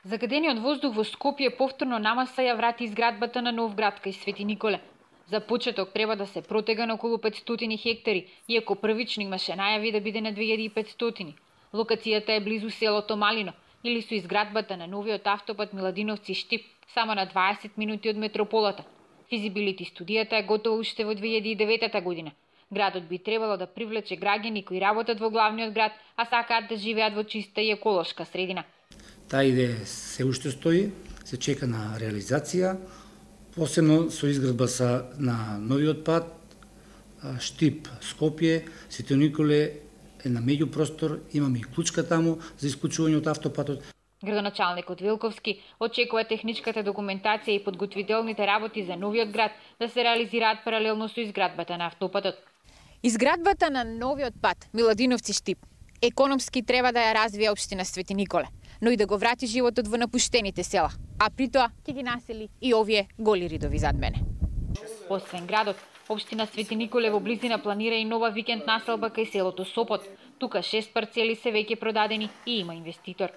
Загадениот воздух во Скопје повторно намаса ја врати изградбата на нов град кај Свети Николе. За почеток треба да се протега на околу 500 хектари, иако првично имаше најави да биде на 2500. Локацијата е близу селото Малино или со изградбата на новиот автопат Миладиновци-Штип, само на 20 минути од метрополата. Физибилити студијата е готова уште во 2009 година. Градот би требало да привлече граѓани кои работат во главниот град, а сакаат да живеат во чиста и еколошка средина. Таа идеја се уште стои, се чека на реализација, посебно со изградба на новиот пат, Штип Скопје, Свети Николе е на меѓупростор, имаме и клучка таму за исклучување од автопатот. Градоначалникот Вилковски очекува техничката документација и подготвителните работи за новиот град да се реализираат паралелно со изградбата на автопатот. Изградбата на новиот пат Миладиновци-Штип економски треба да ја развие општина Свети Николе, но и да го врати животот во напуштените села, а при тоа ќе ги насели и овие голи ридови зад мене. Освен градот, општина Свети Николе во близина планира и нова викенд населба кај селото Сопот. Тука 6 парцели се веќе продадени и има инвеститор.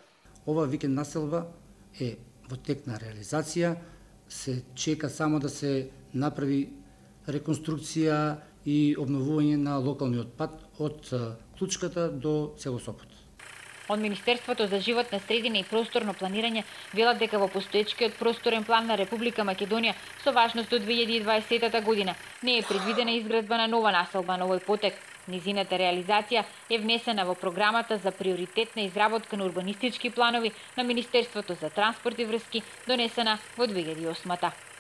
Ова викенд населба е во тек на реализација, се чека само да се направи реконструкција и обновување на локалниот пат од Клучката до село Сопот. Од Министерството за животна средина и просторно планирање велат дека во постоечкиот просторен план на Република Македонија со важност до 2020 година не е предвидена изградба на нова населба на овој потек. Низината реализација е внесена во програмата за приоритетна изработка на урбанистички планови на Министерството за транспорт и врски, донесена во 2008.